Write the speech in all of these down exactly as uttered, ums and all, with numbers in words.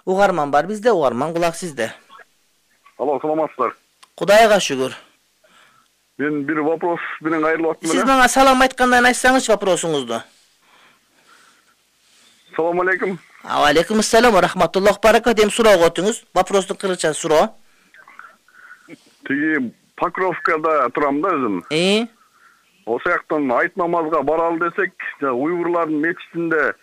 Угарман бар бизде, угарман кулак сизде. Алло, саламатсыздар. Кудайга шүгүр. Мен бир вопрос менен кайрылып аттым. Сиз мага салам айткандан айтсаңыз вопросуңузду. Салам алейкум. Алейкум ассалам ва рахматуллах баракат. Эми суроого өтүңүз. Вопростун кыргызча суроо. Тиги Покровкада турам да өзүм. Э? Ошол жактан айт намазга баралы десек, уйгурлардын мечитинде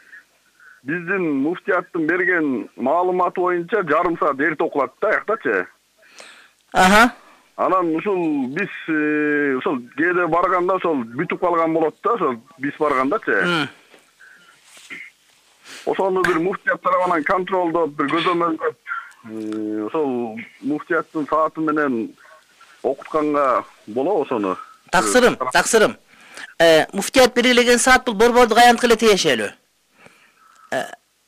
биздин муфтияттын берген маалыматы боюнча жарым саат эрте окулат да аяктачы. Аха. Анан ушул биз ошол кээде барганда ошол бүтүп калган болот да, ошол биз баргандачы. Ошону бир муфтият тарабынан контролдоп, бир көзөмөлдөп, ошол муфтияттын сааты менен окутканга болобу ошону? Таксырым, таксырым. Э, муфтият белгилеген саат бул борбордук аянтка эле тиешелүү.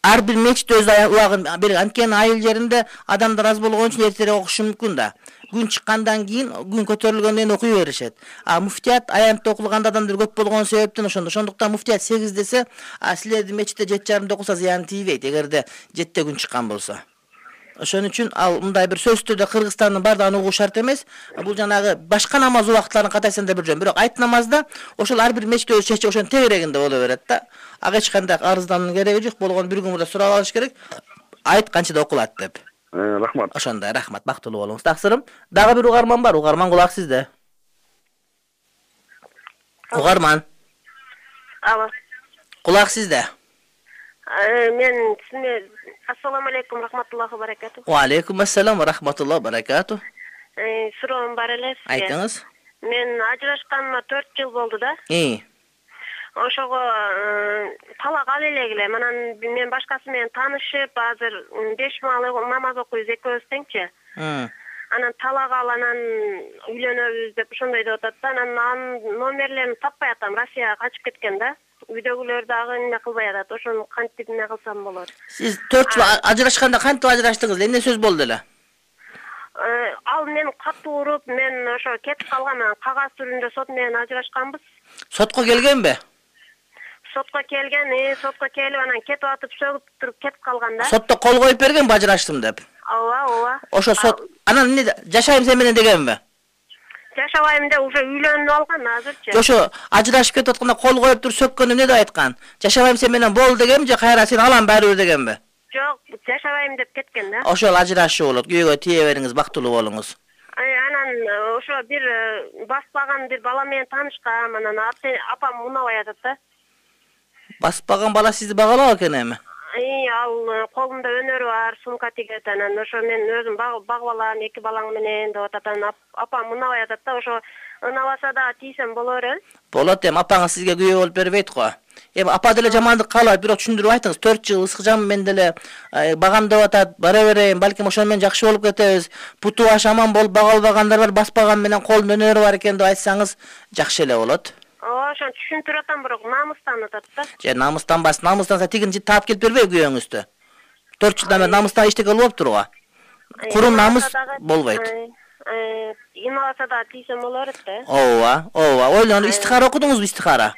Ар бир мечит өз убагын берген. Анткени айыл жеринде адамдар аз болгон үчүн эртерээк окушу мүмкүн да. Күн чыккандан кийин, күн көтөрүлгөндөн кийин окуй беришет. А муфтият аянтта окулганда адамдар көп болгон себептен ошондо. Ошондуктан муфтият сегиз десе, а силердин мечитте жети жарымда окуса зыян тийбейт, эгерде жетиде күн чыккан болсо. Ошон үчүн ал мындай бир сөзсүз түрдө Кыргызстандын бардыгын угуу шарт эмес. Бул жанагы башка намаз убакытларын катайсанда бир жөн. Бирок айт намазда ошол ар бир мечит өз чечи ошонун тегерегинде боло берет да. Ага эч кандай арыздануунун кереги жок. Болгон бир күн мурда сурап алыш керек. Айт канчада окулат деп. Э, рахмат. Ошондой, рахмат. Бактылуу болуңуз. Таксырым. Дагы бир угарман бар. Угарман кулак сизде. Угарман. Алло. Кулак сизде. Мен сизге ассаламу алейкум рахматуллахи баракату. Ва алейкум ассалам ва рахматуллахи баракату. Э, суроом бар эле сизге. Айтыңыз. Мен ажырашканыма төрт жыл болду да. Э. Ошого талак ала элегиле. Анан мен башкасы менен таанышып, азыр беш маал намаз окуйбуз экөөбүз теңчи. Анан талак ал, анан үйлөнөбүз деп ошондой деп атат да. Анан анын номерлерин таппай атам. Россияга качып кеткен да. Үйдөгүлөр дагы эмне кылбай атат. Ошону кантип эмне кылсам болот? Сиз төрт жыл ажырашканда кантип ажыраштыңыз? Эмне сөз болду эле? Ал мен катуу уруп, мен ошо кетип калган, кагаз түрүндө сот менен ажырашканбыз. Сотко келгенби? Сотко келген, э, сотко келип анан кетип атып сөгүп туруп кетип калган да. Сотто кол коюп бергенби ажыраштым деп? Ооба, ооба. Ошо сот анан эмне жашайм сен менен дегенби? Жашабайм деп уже үйлөнүп алган азырчы. Ошо ажырашып кетип атканда кол коюп туруп сөккөн эмне деп айткан? Жашабайм сен менен бол дегенби же кайра сени алам баары бир дегенби? Жок, жашабайм деп кеткен да. Ошол ажырашуу болот. Күйөөгө тие бериңиз, бактылуу болуңуз. Анан ошо бир баспаган бир бала менен таанышкам, анан апам унабай атат да. Баспаган бала сизди багалап экен эми? И, ал колунда өнөрү бар, сумка тигет, анан ошо мен өзүм багып алам, эки балаң менен деп атат. Анан апам унабай атат да, ошо унабаса да тийсем боло береби? Болот, эми апаңыз сизге күйөө болуп бербейт го. Эми апа деле жамандык каалабайт, бирок түшүндүрүп айтыңыз. төрт жыл ысык жам мен деле багам деп атат, бара берейин, балким ошону менен жакшы болуп кетебиз. Путу баш аман болуп бага албагандар бар, баспаган менен колунда өнөрү бар экен деп айтсаңыз жакшы эле болот. Ооба, ошону түшүндүрүп атам, бирок намыстан атат да. Же намыстанбас, намыстанса тигин таап келип бербей күйөөңүздү. төрт жылдан бери намыстан эчтеке болуптур го. Курум намыс болбойт. Э, инабаса да тийсем боло берет да. Ооба, ооба. Ойлонуп истихара окудуңузбу, истихара?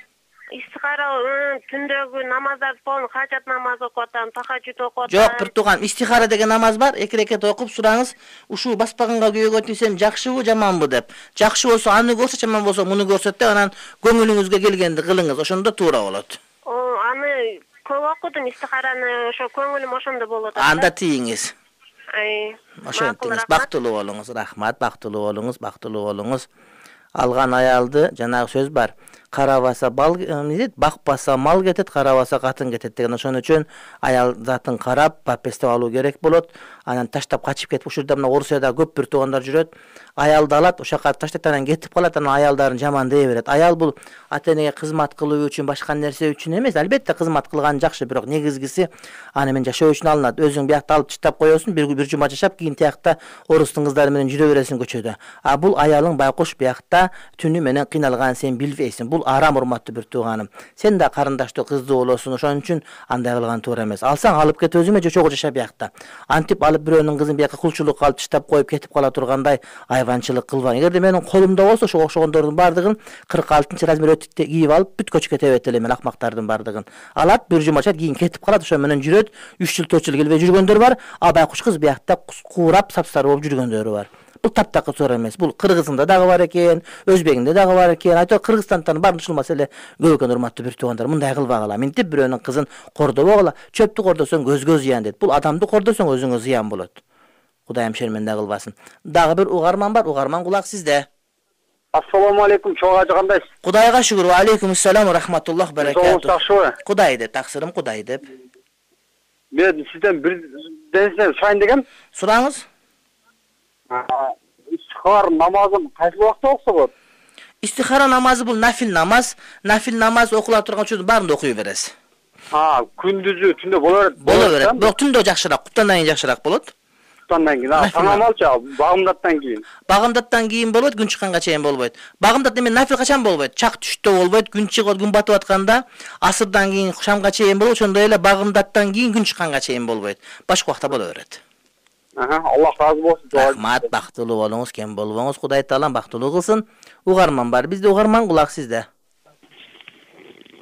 Истихара түндөгү намаздарды полный хажат намазы окуп атам, тахажжуд окуп атам. Жок, бир тууган, истихара деген намаз бар. Эки рекет окуп сураңыз, ушул баспаганга күйөөгө тийсем жакшыбы, жаманбы деп. Жакшы болсо аны көрсөт, жаман болсо муну көрсөт деп, анан көңүлүңүзгө келгенди кылыңыз. Ошондо туура болот. Аны көп окудум, истихараны, ошо көңүлүм ошондо болуп атат. Анда тийиңиз. Ай. Ошентиңиз, бактылуу болуңуз, рахмат, бактылуу болуңуз, бактылуу болуңуз. Алган аялды, жанагы сөз бар. Карабаса бал кетет, бакпаса мал кетет, карабаса катын кетет деген. Ошон үчүн аял затын карап, папестеп алуу керек болот. Анан таштап качып кетип, ушул жерде мына Орусияда көп бир туугандар жүрөт. Аялды алат, ошол жака таштайт, анан кетип калат, анан аялдарын жаман дей берет. Аял бул ата-энеге кызмат кылуу үчүн, башка нерсе үчүн эмес. Албетте кызмат кылган жакшы, бирок негизгиси аны мен жашоо үчүн алынат. Өзүң биякта алып чыштап коесуң, бир бир жума жашап, кийин тиякта орустун кыздары менен жүрө бересиң көчөдө. А бул аялың байкуш биякта түнү менен кыйналган, сен билбейсиң. бул арам, урматтуу бир тууганым. Сен да карындаштуу кыздуу болосуң, ошон үчүн андай кылган туура эмес. Алсаң алып кет, өзүңө жочого жаша биякта. Антип алып бирөөнүн кызын бияка кулчулукка алып таштап коюп кетип кала тургандай айванчылык кылбаң. Эгерде менин колумда болсо ошо окшогондордун бардыгын кырк алтынчы размер өтүктө кийип алып бүт көчкө тебет элем, акмактардын бардыгын. Алат, бир жума чат кийин кетип калат, ошо менен жүрөт. үч жыл төрт жыл келбей жүргөндөр бар. А байкуш кыз биякта куурап сапсары болуп жүргөндөр бар. Бул таптакы туура эмес. Бул Кыргызында дагы бар экен, Өзбегинде дагы бар экен. Айтор Кыргызстандын баарын ушул маселе көп экен, урматтуу бир туугандар. Мындай кылбагыла. Минтип бирөөнүн кызын кордобогула. Чөптү кордосоң көзгө зыян дейт. Бул адамды кордосоң өзүңө зыян болот. Кудайым шерменде кылбасын. Дагы бир угарман бар. Угарман, кулак сизде. Ассаламу алейкум, чоң ажы кандайсыз? Кудайга шүгүр. Ва алейкум ассалам ва рахматуллах баракату. Жакшыбы? Кудай деп, таксырым Кудай деп. Мен сизден бир денсен сурайын дегем. Сураңыз. Истихара намазын кайсы убакта окуса болот? Истихара намазы бул нафил намаз. Нафил намаз окула турган учурдун баарында окуй бересиз. А, күндүзү түндө боло берет. Боло берет. Бирок түндө жакшыраак, куптандан кийин жакшыраак болот. Куптандан кийин, а, санамалчы, багымдаттан кийин. Багымдаттан кийин болбойт, күн чыкканга чейин болбойт. Багымдат эме нафил качан болбойт? Чак түштө болбойт, күн чыгып, күн батып атканда, асырдан кийин шамга чейин болот, ошондой эле багымдаттан кийин күн чыкканга чейин болбойт. Башка убакта боло берет. Аха, Аллах разы болсун. Рахмат, бактылуу болуңуз, кем болбоңуз, Кудай Таалам бактылуу кылсын. Угарман бар. Бизде угарман, кулак сизде.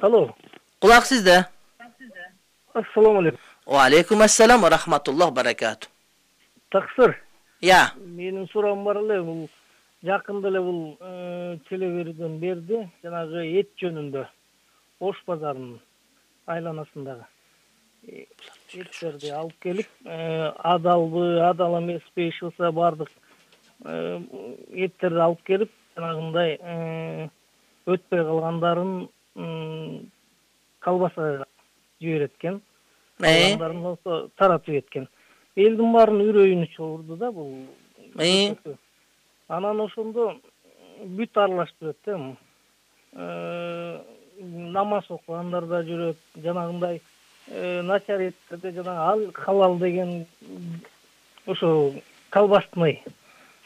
Алло. Кулак сизде. Ассаламу алейкум. Ва алейкум ассалам ва рахматуллах баракату. Таксыр. Я. Менин суроом бар эле, бул жакында эле бул телеберден берди, жанагы эт жөнүндө. Ош базарынын айланасындагы. Эттерди алып келип, адалбы, адал эмеспи, иш болсо бардык эттерди алып келип, жанагындай өтпөй калгандарын колбаса жибереткен. Калгандарын болсо таратып кеткен. Элдин баарын үрөйүнү чогурду да бул. Анан ошондо бүт аралашып жүрөт да. Намаз окугандар да жүрөт, жанагындай начар эттерде жанагы халал деген ошо колбасный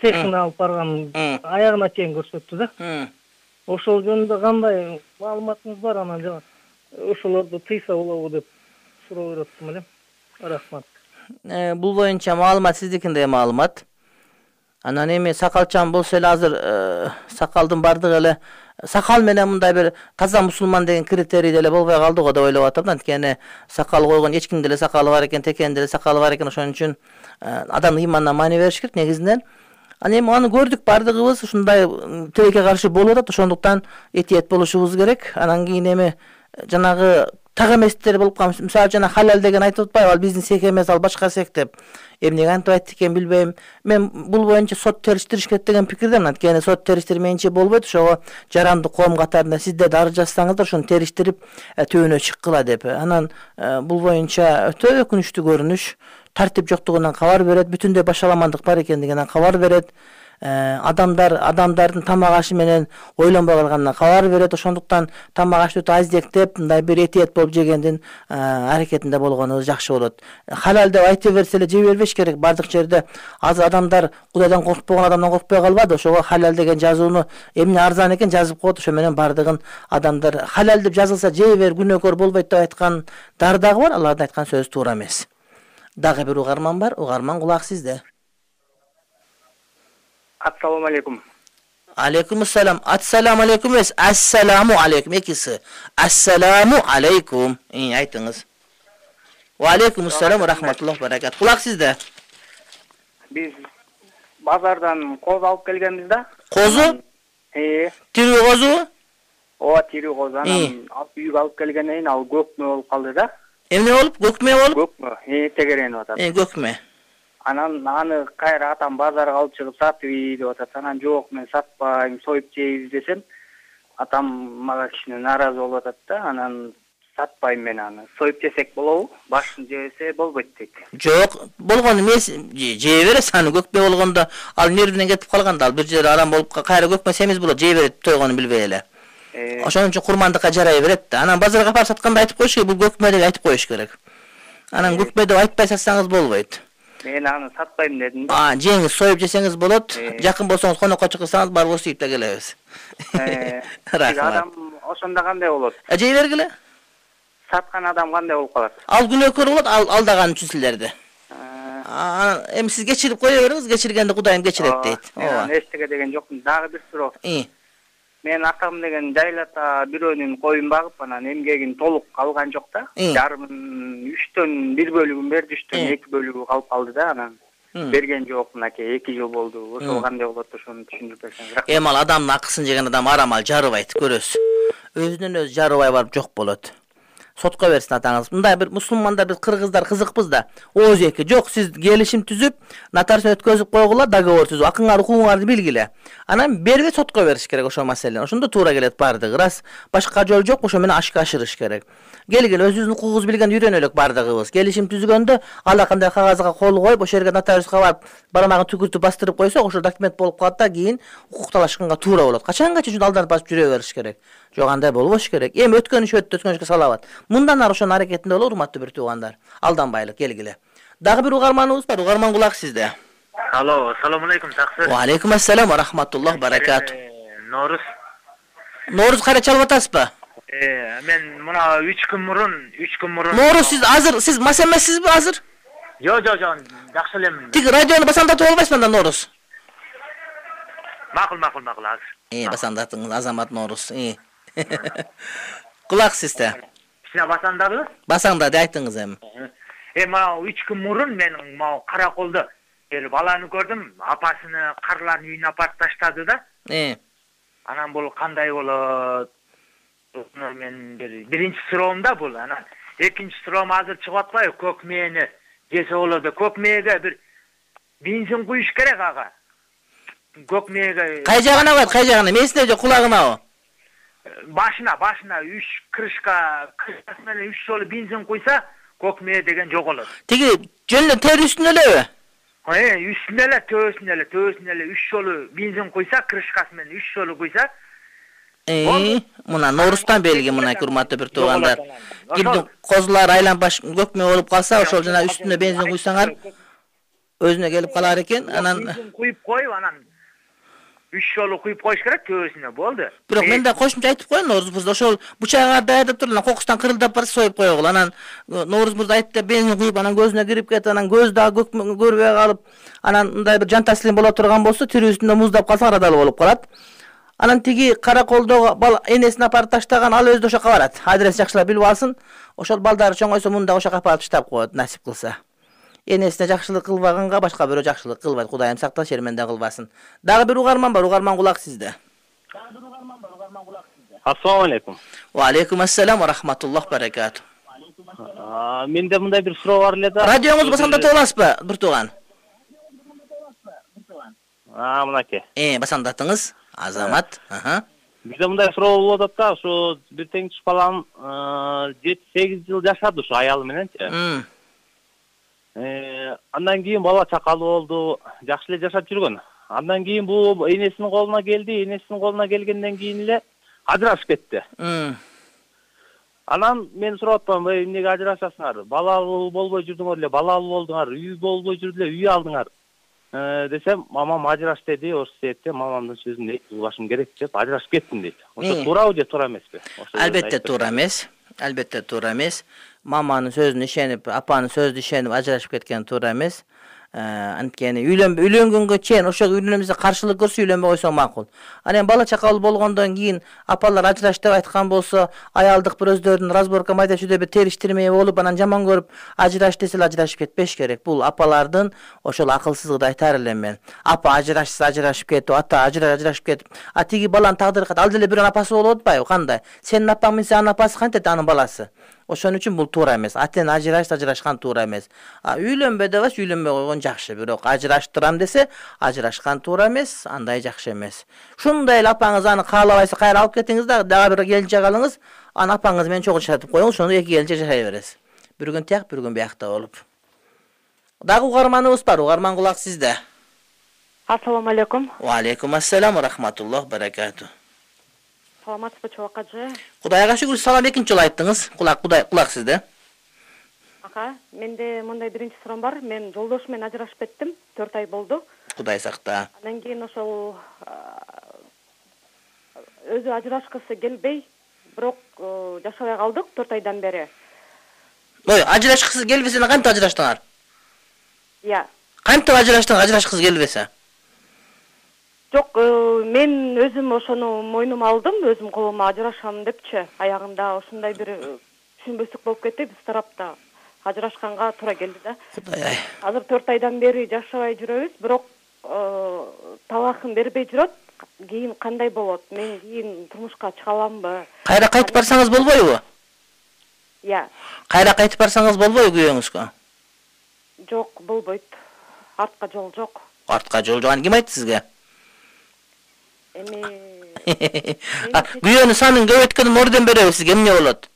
цехине алып барган аягына чейин көрсөттү да. Ошол жөнүндө кандай маалыматыңыз бар, анан жана ошолорду тыйса болобу деп суроо бериптим элем. Рахмат. Бул боюнча маалымат сиздикинде маалымат. Анан эми сакалчан болсо эле азыр сакалдын бардыгы эле сакал менен мындай бир таза мусулман деген критерий деле болбой калды го деп ойлоп атам. Анткени сакал койгон эч кимде эле сакалы бар экен, текенде эле сакалы бар экен, ошон үчүн адамдын иманына маани бериш керек негизинен. Аны эми аны көрдүк, бардыгыбыз ушундай тилекке каршы болуп атат, ошондуктан этиет болушубуз керек. Анан кийин эми жанагы так эместер болуп калмыш. Мисалы жана халал деген айтып атпайбы, ал биздин сек эмес, ал башка сек деп. Эмнеге антип айтты экен билбейм. Мен бул боюнча сот териштириш керек деген пикирдемин. Анткени сот териштирмейинче болбойт. Ошого жаранды коом катарында сиздер да арыз жазсаңыздар, ошону териштирип төбөнө чыккыла деп. Анан бул боюнча өтө өкүнүчтүү көрүнүш. Тартип жоктугунан кабар берет, бүтүндөй башаламандык бар экендигинен кабар берет. Адамдар адамдардын тамак ашы менен ойлонбой калганынан кабар берет. Ошондуктан тамак ашты аздектеп, мындай бир этиет болуп жегендин аракетинде болгонубуз жакшы болот. Халал деп айтып берсе эле жей бербеш керек. Бардык жерде азыр адамдар Кудайдан коркпогон адамдан коркпой калбады. Ошого халал деген жазууну эмне арзан экен жазып коет. Ошо менен бардыгын адамдар халал деп жазылса жей бер, күнөөкөр болбойт деп айткан дар дагы бар. Алардын айткан сөзү туура эмес. Дагы бир угарман бар. Угарман, кулак сизде. Ассаламу алейкум. Алейкум ассалам. Ассаламу алейкум эмес, ассаламу алейкум экиси. Ассаламу алейкум. Ий, айтыңыз. Ва алейкум ассалам ва рахматуллах баракат. Кулак сизде. Биз базардан коз алып келгенбиз да. Козу? Э. Тирүү козу? Ооба, тирүү коз. Анан алып үйгө алып келгенден кийин ал көкмө болуп калды да. Эмне болуп? Көкмө болуп? Көкмө. Э, тегеренип атат. Э, көкмө. Анан аны кайра атам базарга алып чыгып сатып деп атат. Анан жок, мен сатпайм, союп жейбиз десем, атам мага кичине нааразы болуп атат да. Анан сатпайм мен аны. Союп жесек болобу? Башын жебесе болбойт дейт. Жок, болгон эмес, жей бересиз аны. Көкмө болгондо ал нервинен кетип калганда, ал бир жери арам болуп кайра көкмө семиз болот, жей берет тойгону билбей эле. Ошон үчүн курмандыкка жарай берет да. Анан базарга апарып сатканда айтып коюш керек, бул көкмө деп айтып коюш керек. Анан көкмө деп айтпай сатсаңыз болбойт. Мен аны сатпайм дедим да. А, жеңиз, союп жесеңиз болот. Жакын болсоңуз конокко чыксаңыз бар болсо үйүп да келебиз. Рахмат. Адам ошондо кандай болот? Жей бергиле. Саткан адам кандай болуп калат? Ал күнөөкөр болот, ал алдаган үчүн силерди. Эми сиз кечирип кое бериңиз, кечиргенди Кудайым кечирет дейт. Ооба. Эчтеке деген жокмун. Дагы бир суроо. Мен акам деген жайлата бирөөнүн коюн багып, анан эмгегин толук алган жок да. Жарымын үчтөн бир бөлүгүн берди, үчтөн эки бөлүгү калып калды да, анан берген жок мынакей эки жыл болду. Ошол кандай болот, ошону түшүндүрүп берсеңиз. Эми ал адамдын акысын жеген адам арамал жарыбайт, көрөсүз. Өзүнөн өзү жарыбай барып жок болот. Сотко берсин атаңыз. Мындай бир мусулмандар, биз кыргыздар кызыкпыз да. Ооз эки жок, сиз келишим түзүп, нотариус өткөзүп койгула, договор түзүп, акыңар укугуңарды билгиле. Анан бербей сотко бериш керек ошол маселени. Ошондо туура келет бардыгы. Рас башка жол жок, ошо менен ашка ашырыш керек. Келгиле, өзүбүздүн укугубузду билген үйрөнөлүк бардыгыбыз. Келишим түзгөндө ала кандай кагазга кол коюп, ошол жерге нотариуска барып, бармагын түкүртүп бастырып койсок, ошо документ болуп калат да, кийин укук талашканга туура болот. Качанга чейин алданып басып жүрө бериш керек. Жок, андай болбош керек. Эми өткөн иш өттү, өткөн ишке салабат. Мындан ары ошонун аракетинде боло, урматтуу бир туугандар. Алданбайлык, келгиле. Дагы бир угарманыбыз бар, угарман кулак сизде. Алло, assalomu alaykum, Taqsir. Ва алейкум ассалам ва рахматуллах баракат. No'ruz. No'ruz кайра чалып атасызбы? Э, мен мына үч күн мурун, үч күн мурун. No'ruz сиз азыр, сиз мас эмессизби азыр? Жок, жок, жок, жакшы элемин. Тик радиону басандатып албайсызбы анда No'ruz? Макул, макул, макул азыр. Э, басандатыңыз Азамат No'ruz. Э. Кулак сизде. Сине басандабы? Басаңдады, айтыңыз эми. Э, мына үч күн мурун мен мына Караколдо бир баланы көрдүм, апасыны карлардын үйүнө апарып таштады да. Э. Анан бул кандай болот? Мен бир биринчи суроом да бул. Анан экинчи суроом азыр чыгып атпайбы? Көк мээни жесе болот. Көк мээге бир бензин куюш керек ага. Көк мээге. Кай жагына коет, кай жагына? Месине же кулагынабы? Башына, башына үч крышка, крышкасы менен үч жолу бензин куйса, көк мээ деген жоголот. Тиги жөн эле тери үстүнө элеби? Э, үстүнө эле, төбөсүнө эле, төбөсүнө эле үч жолу бензин куйса, крышкасы менен үч жолу куйса. Э, мына No'ruzдан белги мына урматтуу бир туугандар. Кимдин козулары айланбаш көк мээ болуп калса, ошол жана үстүнө бензин куйсаңар өзүнө келип калар экен. Анан бензин куюп коюп, анан үч жолу куюп коюш керек, төбөсүнө болду. Бирок мен да кошумча айтып коеюн, No'ruz мырза, ошол бучагыңарды даярдап туруп, анан кокустан кырылдап барса союп койгула. Анан No'ruz мырза айтты, бензин куюп, анан көзүнө кирип кетип, анан көз дагы көк мээ көрбөй калып, анан мындай бир жан таслим боло турган болсо, тирүү үстүндө муздап калса арадалы болуп калат. Анан тиги Караколдогу бала энесин апарып таштаган, ал өзү ошока барат. Адрес жакшылап билип алсын. Ошол балдары чоңойсо мында ошока апарып таштап коет, насип кылса. Энесине жакшылык кылбаганга башка бирөө жакшылык кылбайт. Кудайым сактасын, шерменде кылбасын. Дагы бир угарман бар, угарман кулак сизде. Дагы бир угарман бар, угарман кулак сизде. Assalomu alaykum. Ва алейкум ассалам ва рахматуллах баракат. Менде мындай бир суроо бар эле да. Радионузду басандатып аласызбы, бир тууган? А, мынакей. Э, басандатыңыз. Азамат. Аха. Бизде мындай суроо болуп атат да, ушу бир теңчи балам жети сегиз жыл жашады ушу аялы мененчи. Э, андан кийин бала чакалы болду, жакшы эле жашап жүргөн. Андан кийин бул энесинин колуна келди, энесинин колуна келгенден кийин эле ажырашып кетти. Анан мен сурап атпаймынбы, эмнеге ажырашасыңар? Балалуу болбой жүрдүңөр эле, балалуу болдуңар, үй болбой жүрдү эле, үй алдыңар. Э, десем, мамам ажыраш деди, ошол себептен мамамдын сөзүн эки башым керек деп ажырашып кеттим дейт. Ошо туурабы же туура эмеспи? Албетте туура эмес. Албетте туура эмес. Маманын сөзүнө ишенип, апанын сөзүнө ишенип ажырашып кеткен туура эмес. Анткени үйлөнбөй үйлөнгөнгө чейин ошо үйлөнөбүзгө каршылык көрсө үйлөнбөй койсоң макул. Анан бала чакалуу болгондон кийин апалар ажыраш деп айткан болсо, аялдык бир өздөрүнүн разборка майда чүйдө бир териштирмей болуп, анан жаман көрүп ажыраш десе ажырашып кетпеш керек. Бул апалардын ошол акылсыздыгы айтар элем мен. Апа ажырашса ажырашып кетип, ата ажыраш ажырашып кетип, а тиги баланын тагдыры кат, ал деле бирөөнүн апасы болуп атпайбы? Кандай? Сенин апаң менен анын апасы кантет анын баласы? Ошон үчүн бул туура эмес. Атен ажырашса ажырашкан туура эмес. А үйлөнбө дебес, үйлөнбөй койгон жакшы. Бирок ажыраштырам десе, ажырашкан туура эмес, андай жакшы эмес. Шундай эле апаңыз аны каалабайса кайра алып кетиңиз да, дагы бир келинчек алыңыз, аны апаңыз менен чогуу жашатып коюңуз, ошондо эки келинчек жашай бересиз. Бир күн тияк, бир күн биякта болуп. Дагы угарманыбыз бар, угарман кулак сизде. Ассаламу алейкум. Ва алейкум ассалам ва рахматуллах баракату. Саламатсызбы, чабакажы? Кудайга шүгүр, салам, экинчи жолу айттыңыз. Кулак, Кудай, кулак сизде. Ака, менде мындай биринчи суроом бар. Мен жолдошум менен ажырашып кеттим, төрт ай болду. Кудай сакта. Андан кийин ошол өзү ажырашкысы келбей, бирок жашабай калдык төрт айдан бери. Ой, ажырашкысыз келбесе кантип ажыраштыңар? Иә. Кантип ажыраштың, ажырашкысыз келбесе? Жок, мен өзүм ошону мойнума алдым, өзүм колума ажырашам депчи. Аягында ошондой бир түшүнбөстүк болуп кетти биз тарапта. Ажырашканга туура келди да. Кудай. Азыр төрт айдан бери жашабай жүрөбүз, бирок талакын бербей жүрөт. Кийин кандай болот? Мен кийин турмушка чыга аламбы? Кайра кайтып барсаңыз болбойбу? Иә. Кайра кайтып барсаңыз болбойбу күйөөңүзгө? Жок, болбойт. Артка жол жок. Артка жол жок. Ким айтты сизге? Эми күйөөнүн санын көбөйткөн орден беребиз сизге, эмне болот?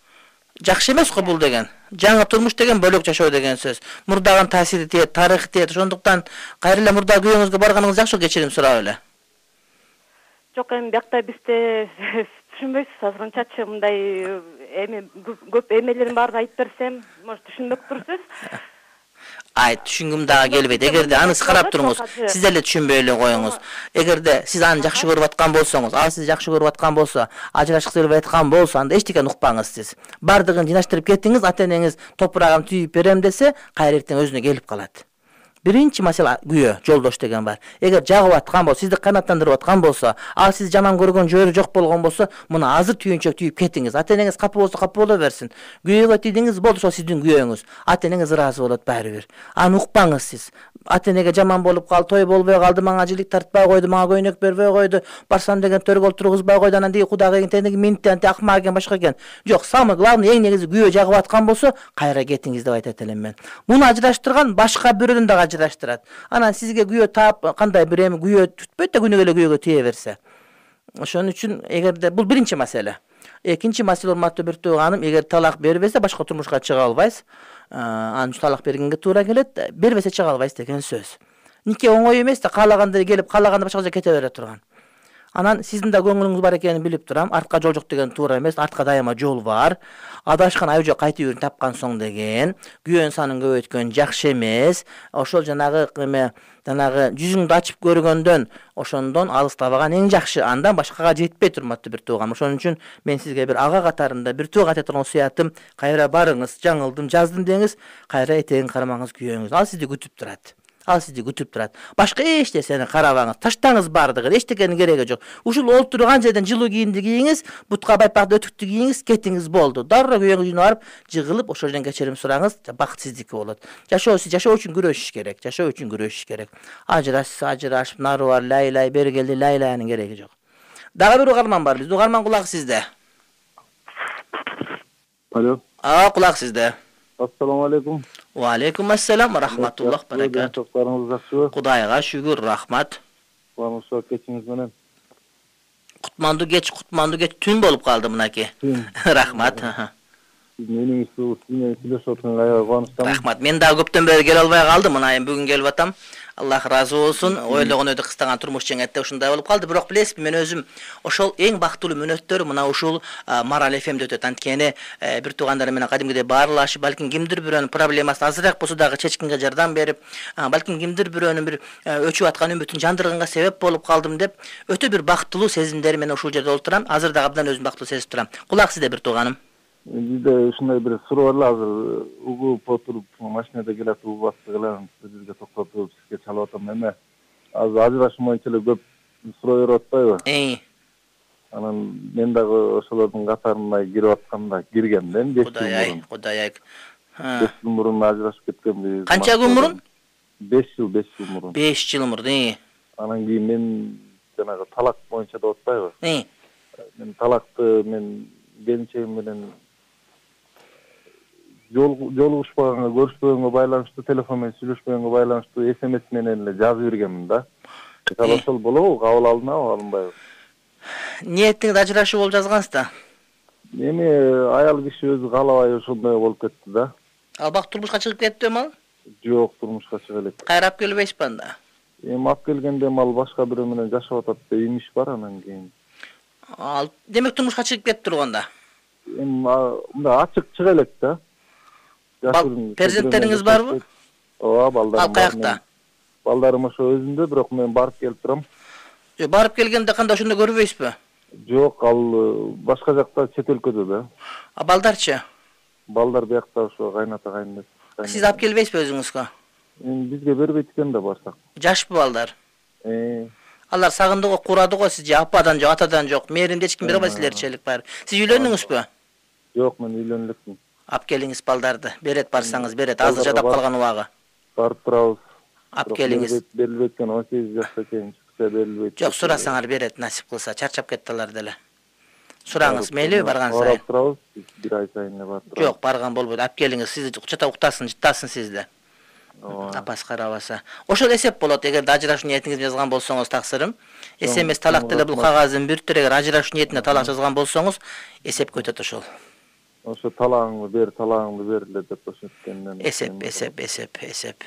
Жакшы эмес го бул деген. Жаңы турмуш деген бөлөк жашоо деген сөз. Мурдаган таасири тиет, тарыхы тиет. Ошондуктан кайра эле мурда күйөөңүзгө барганыңыз жакшы, кечирим сурап эле. Жок, эми биякта бизде түшүнбөйсүз азырынчачы мындай эми көп эмелерин баарын айтып берсем, может түшүнбөк турсуз. Ай, түшүнгүм дагы келбейт. Эгерде аны карап туруңуз, сиз эле түшүнбөй эле коюңуз. Эгерде сиз аны жакшы көрүп аткан болсоңуз, ал сизди жакшы көрүп аткан болсо, ажырашкысы келбей аткан болсо, анда эчтекени укпаңыз сиз. Бардыгын жынаштырып кеттиңиз, ата-энеңиз топурагын түйүп берем десе, кайра эртең өзүнө келип калат. Биринчи маселе күйөө, жолдош деген бар. Эгер жагып аткан болсо, сизди канаттандырып аткан болсо, ал сиз жаман көргөн жөрү жок болгон болсо, муну азыр түйүнчөк түйүп кетиңиз. Ата-энеңиз капы болсо капы боло берсин. Күйөөгө тийдиңиз, болду, ошол сиздин күйөөңүз. Ата-энеңиз ыраазы болот баары бир. Аны укпаңыз сиз. Ата-энеге жаман болуп калды, той болбой калды, мага жилик тартпай койду, мага көйнөк бербей койду, барсам деген төргө олтургузбай койду, анан деги кудагы тендеги минти анти акмак экен, башка экен. Жок, самый главный эң негизи күйөө жагып аткан болсо, кайра кетиңиз деп айтат элем мен. Муну ажыраштырган башка бирөөнү дагы ажыраштырат. Анан сизге күйөө таап, кандай бир эми күйөө түтпөйт да күнүгө эле күйөөгө тие берсе. Ошон үчүн эгерде бул биринчи маселе. Экинчи маселе, урматтуу бир тууганым, эгер талак бербесе башка турмушка чыга албайсыз. Анын үчүн талак бергенге туура келет. Бербесе чыга албайсыз деген сөз. Нике оңой эмес да, каалагандай келип, каалаганда башка жерге кете бере турган. Анан сиздин да көңүлүңүз бар экенин билип турам. Артка жол жок деген туура эмес. Артка дайыма жол бар. Адашкан айжо кайтып үйүрүн тапкан соң деген. Күйөөнүн санын көбөйткөн жакшы эмес. Ошол жанагы эме жанагы жүзүңдү ачып көргөндөн, ошондон алыстабаган эң жакшы. Андан башкага жетпейт, урматтуу бир туугам. Ошон үчүн мен сизге бир ага катарында бир тууга айтатын осуятым, кайра барыңыз, жаңылдым, жаздым деңиз, кайра этегин карамаңыз күйөөңүз. Ал сизди күтүп турат. Ал сизди күтүп турат. Башка эч нерсени карабаңыз, таштаңыз бардыгын, эчтекенин кереги жок. Ушул олтурган жерден жылуу кийимди кийиңиз, бутка байпак өтүктү кийиңиз, кетиңиз болду. Дароо күйөөңүз үйүнө барып, жыгылып, ошол жерден кечирим сураңыз, бакыт сиздики болот. Жашоо жашоо үчүн күрөшүш керек, жашоо үчүн күрөшүш керек. Ажырашса ажырашып, нары бар, лайлай, бери келди, лайлаянын кереги жок. Дагы бир угарман бар биз. Угарман, кулак сизде. Алло. А, кулак сизде. Ассаламу алейкум. Ва алейкум ассалам, рахматуллах, баракат. Токтарыңыз жакшыбы? Кудайга шүгүр, рахмат. Кубанычта кечиңиз менен. Кутманду кеч, кутманду кеч түн болуп калды мынаки. Рахмат. Менин исмим сүйлөшүп атканга кубанычтамын. Рахмат. Мен дагы көптөн бери келе албай калдым, мына эми бүгүн келип атам. Аллах разы болсун. Ойлогон өйдө кыстаган турмуш жеңетте ушундай болуп калды. Бирок билесизби, мен өзүм ошол эң бактылуу мүнөттөр мына ушул Марал эф эмде өтөт. Анткени бир туугандарым менен кадимгидей баарлашып, балким кимдир бирөөнүн проблемасын азыраак болсо дагы чечкенге жардам берип, балким кимдир бирөөнүн бир өчүп аткан үмүтүн жандырганга себеп болуп калдым деп, өтө бир бактылуу сезимдер менен ушул жерде олтурам. Азыр дагы абдан өзүм бактылуу сезип турам. Кулак сизде бир тууганым. Бизде ушундай бир суроо бар эле, азыр угуп отуруп машинада келатып угуп аттык эле, бизге токтотуп сизге чалып атам. Эме азыр ажырашуу боюнча эле көп суроо берип атпайбы? Э. Анан мен дагы ошолордун катарына кирип атканда киргем да, беш жыл мурун. Кудай ай. беш жыл мурун ажырашып кеткенбиз. Канча күн мурун? беш жыл, беш жыл мурун. беш жыл мурун, э. Анан кийин мен жанагы талак боюнча деп атпайбы? Э. Мен талакты мен келинчегим менен жолугушпаганга, көрүшпөгөнгө байланыштуу, телефон менен сүйлөшпөгөнгө байланыштуу эс эм эс менен эле жазып бергенмин да. Ошол болобу, кабыл алынабы, алынбайбы? Ниетиңиз ажырашуу болуп жазгансыз да. Эми аял киши өзү каалабай ошондой болуп кетти да. Ал бак турмушка чыгып кеттиби ал? Жок, турмушка чыга элек. Кайра алып келбейсизби анда? Эми алып келгенде ал башка бирөө менен жашап атат деп имиш бар, анан кийин. Ал демек турмушка чыгып кетти турганда. Эми мындай ачык чыга элек да. Перзенттериңиз барбы? Ооба, балдарым. Ал каякта? Балдарым ошо өзүндө, бирок мен барып келип турам. Барып келгенде кандай ошондо көрбөйсүзбү? Жок, ал башка жакта, чет өлкөдө да. А балдарчы? Балдар биякта ошо кайната кайнес. Сиз алып келбейсизби өзүңүзгө? Бизге бербейт экен да барсак. Жашпы балдар? Э. Алар сагынды го, курады го сизди, ападан жок, атадан жок. Мээримди эч ким бере албайт силерчелик бар. Сиз үйлөндүңүзбү? Жок, мен үйлөнүп элекмин. Алып келиңиз балдарды. Берет барсаңыз берет. Азыр жадап калган убагы. Барып турабыз. Алып келиңиз. Берилбейт экен, он сегиз жашта экен, чыкса берилбейт. Жок, сурасаңар берет, насип кылса. Чарчап кетти алар деле. Сураңыз, мейли барган сайын. Барып турабыз, бир ай сайын эле барып турабыз. Жок, барган болбойт. Алып келиңиз, сизди кучата уктасын, жыттасын сизди. Апас карабаса. Ошол эсеп болот, эгер ажырашуу ниетиңизди жазган болсоңуз таксырым. Эсемес талак деле бул кагаздын бүртүр, эгер ажырашуу ниетинде талак жазган болсоңуз, эсепке өтөт ошол. Ошо талагыңды бер, талагыңды бер эле деп ошенткенден. Эсеп, эсеп, эсеп, эсеп.